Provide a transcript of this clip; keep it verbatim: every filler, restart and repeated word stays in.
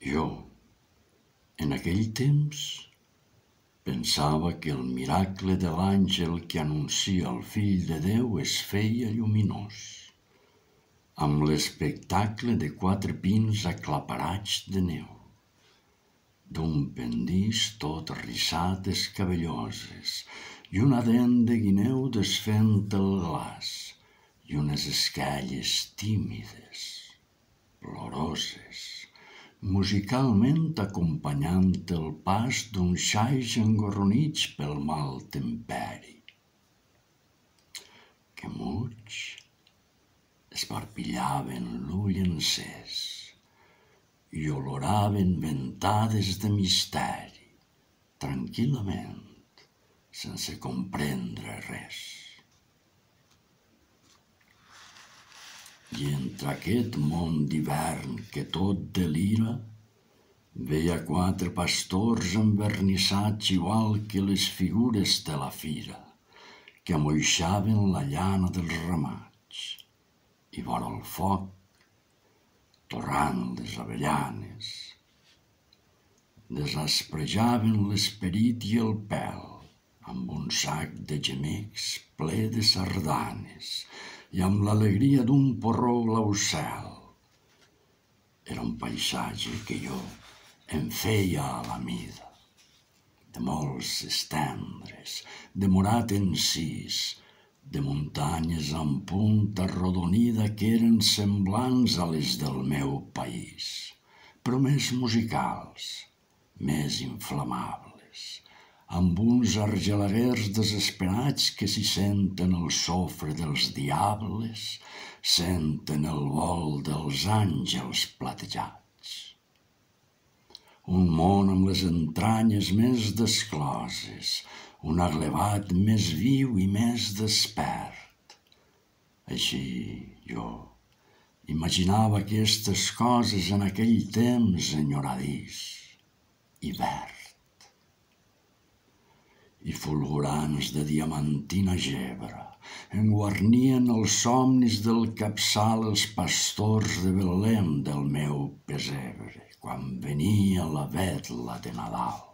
Jo, en aquell temps, pensava que el miracle de l'àngel que anuncia el Fill de Déu es feia lluminós, amb l'espectacle de quatre pins aclaparats de neu, d'un pendís tot rissat escabelloses i una dent de guineu desfent el glaç i unes esquelles tímides, ploroses, musicalment acompanyant el pas d'un xais engorronits pel mal temperi, que muig esparpillaven l'ull encès i oloraven ventades de misteri, tranquil·lament, sense comprendre res. I entre aquest món d'hivern que tot delira, veia quatre pastors envernissats igual que les figures de la fira, que amoixaven la llana dels ramats, i vora el foc, torrant les avellanes, desasprejaven l'esperit i el pèl amb un sac de gemecs ple de sardanes i amb l'alegria d'un porró glaucel. Era un paisatge que jo em feia a la mida, de molts estendres, de morat encís, de muntanyes amb punta arrodonida que eren semblants a les del meu país, però més musicals, més inflamables, amb uns argelaguers desesperats que si senten el sofre dels diables, senten el vol dels àngels platejats. Un món amb les entranyes més descloses, un aglevat més viu i més despert. Així jo imaginava aquestes coses en aquell temps enyoradís i verd. I fulgurants de diamantina gebre enguarnien els somnis del capçal els pastors de Betlem del meu pesebre, quan venia la vetla de Nadal.